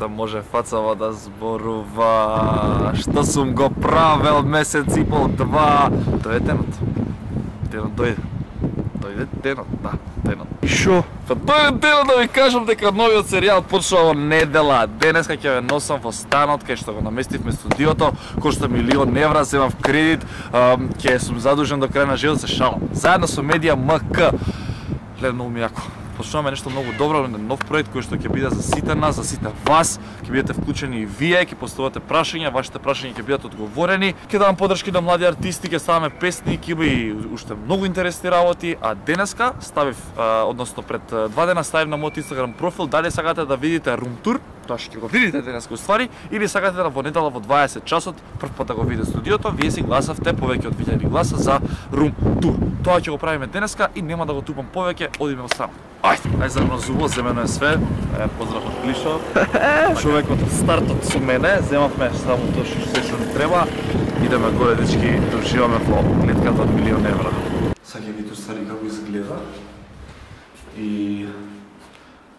да може фацава да зборува. Што сум го правел месец и пол, два. Дојде денот. Денот дојде. Дојде денот, да, денот. Шо? Па дојде денот да ви кажам дека новиот серијал почнува во недела. Денеска ќе ве носам во станот кај што го наместивме студиото, кошта €1.000.000, земав кредит, ќе сум задужен до крај на живот, се шалам. Заедно со Медија МК. Гледа многу ми јако. Почнуваме нешто многу добро, нов проект кој што ќе биде за сите нас, за сите вас, ќе бидете вклучени и вие, ќе поставувате прашања, вашите прашања ќе бидат одговорени. Ќе давам поддршки на млади артисти, ќе ставаме песни, ќе има и уште многу интересни работи, а денеска ставив, односно пред 2 дена ставив на мојот Инстаграм профил, дали сакате да видите рум тур, тоа ќе го видите денеска уствари, или сакате да во недела во 20 часот прв пат да го видите студиото, вие си гласавте повеќе од 1000 гласа за рум тур. Тоа ќе го правиме денеска и нема да го тупам повеќе, одиме во станот. Ајде заедно зубо, земено е све. Поздрав од Клишо. Човекот од стартот со мене, земавме само тоа што ни треба. Идеме горе, дечки, да уживаме во гледката од €1.000.000. Сега ќе видите ствари како изгледа. И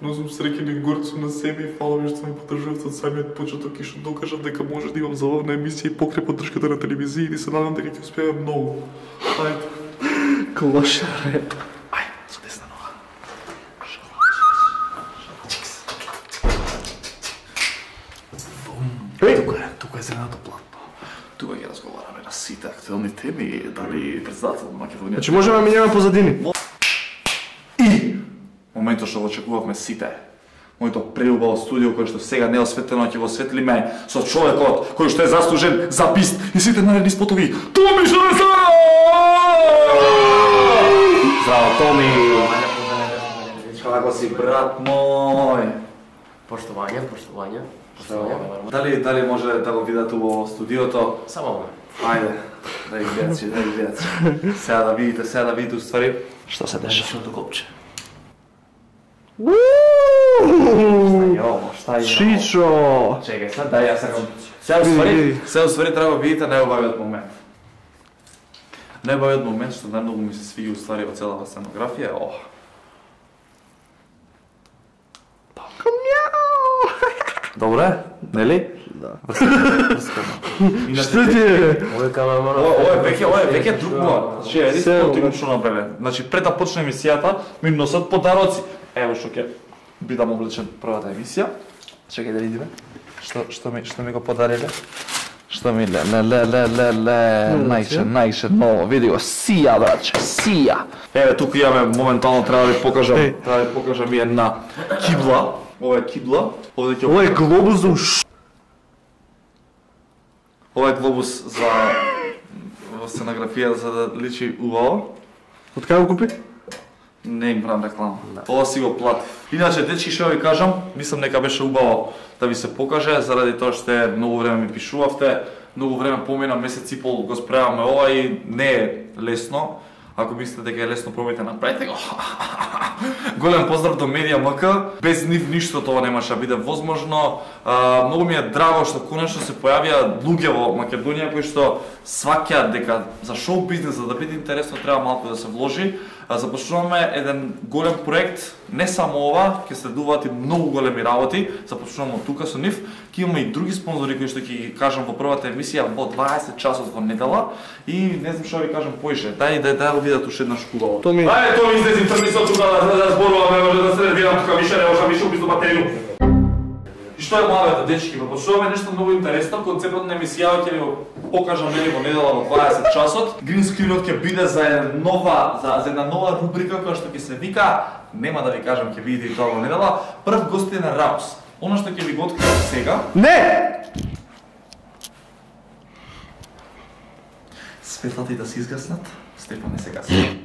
но сум среќен и горд сум на себе и фала ми што ме поддржувате од самиот почеток и што докажав дека може да имам забавна емисија и покрај поддршката на телевизија и се надам дека ќе успееме многу. Ајде. Клошаре. Тука е зеленото платно. Тука ќе разговараме на сите актуелни теми, дали председател на Македонија. Значи можеме да минеме позадини. И моментот што го очекувавме сите. Моето преубаво студио кој што сега не е осветлено, ќе го осветлиме со човекот кој што е заслужен за бист и сите наредни спотови. Томи Шанесара! Здраво, Томи! Како си, брат мој? Поштовање. Дали може да го видат во студиото? Само ме. Ајде, да ги гледат. Сега да видите уствари што се деша. Шното копче. Шта е? Чичо! Чекај, сега дај ја сакам. Сега уствари треба да видите најубавиот момент. Најубавиот момент што најмногу ми се свиѓа уствари во целава сценографија е ова. Добре, нели? Да. Што ти е? Ова е веќе друг план. Значи, еди спортично направен. Значи, пред да почне емисијата, ми носат подароци. Ево што ќе бидам облечен првата емисија. Чекај да видиме. Што ми го подариле? Што ми најше ново, види го, сија, браќе, сија. Еве, тука имаме, моментално треба да ви покажам и една кибла. Ова е кибла. Ова е глобус за уш. Ова е глобус за сценографија за да личи убаво. Од кај го купи? Не им правам реклама. Ова си го платив. Иначе, дечки, што ви кажам, мислам дека беше убаво да ви се покаже, заради тоа што многу време ми пишувавте, многу време помина, месец и пол го спремаме ова и не е лесно. Ако мислите дека е лесно, пробајте, направете го. Голем поздрав до Медија МК. Без нив ништо тоа немаше да биде возможно. Многу ми е драго што конечно се појавија луѓе во Македонија кои што сваќаат дека за шоу бизнес за да биде интересно треба малку да се вложи. Започнуваме еден голем проект, не само ова, ќе следуваат и многу големи работи. Започнуваме од тука со нив. Ќе имаме и други спонзори кои што ќе ги кажам во првата емисија во 20 часот во недела и не знам што ви кажам поише. Дај го видат уште еднаш хубаво. Томи. Ајде, Томи, излези трни со тука да зборуваме, може да се ревирам тука више, не може више убисто батерiju. И што е младата, дечки, почнуваме нешто многу интересно, концептот на емисијава ќе ви го покажам нели во недела во 20 часот. Грин скринот ќе биде за една нова рубрика која што ќе се вика, нема да ви кажам, ќе видите и тоа во недела, прв гостин на Раус. Оно што ќе ви го откријам сега. Не! Светлата и да се изгаснат, Стефан не се гасне.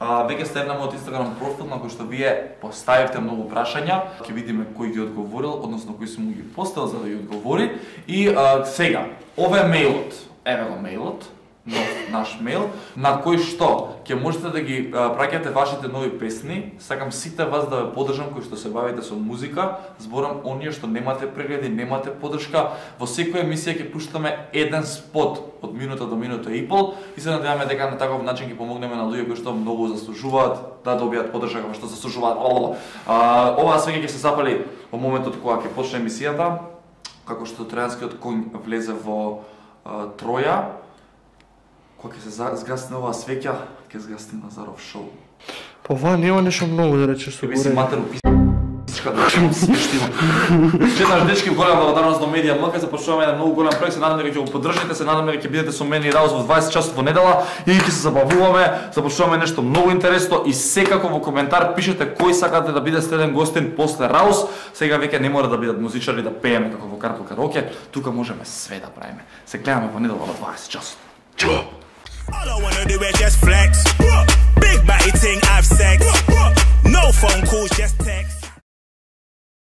Веќе сте на мојот Инстаграм профил на кој што вие поставивте многу прашања, ќе видиме кој ги одговорил, односно кој сум ги поставил за да ги одговори. И сега, ова е мејлот. Еве го мејлот. наш мејл, на кој што ќе можете да ги праќате вашите нови песни. Сакам сите вас да ве поддржам кои што се бавите со музика, зборам оние што немате прегледи, немате поддршка. Во секоја емисија ќе пуштаме еден спот од минута до минута и пол и се надеваме дека на таков начин ќе помогнеме на луѓе кои што многу заслужуваат да добијат поддршка како што заслужуваат. Оваа свеќе ќе се запали во моментот кога ќе почне емисијата, како што тројанскиот конј влезе во Троја. Кога ќе се згасне оваа свеќа, ќе згасне Назаров шоу. Па ова нема нешто многу да речеш со горе. Матеру писачка да смештима. Четнаш дечки, голема благодарност до Медија МК, започнуваме еден многу голем проект, се надам дека ќе го поддржите, се надам дека ќе бидете со мене и Раус во 20 часот во недела и ќе се забавуваме, започнуваме нешто многу интересно и секако во коментар пишете кој сакате да биде следен гостин после Раус. Сега веќе не мора да бидат музичари да пееме како во Карпел караоке, тука можеме све да правиме. Се гледаме во недела во 20 часот. Чао! All I wanna do is just flex. Big body ting, I've sex. No phone calls, just text.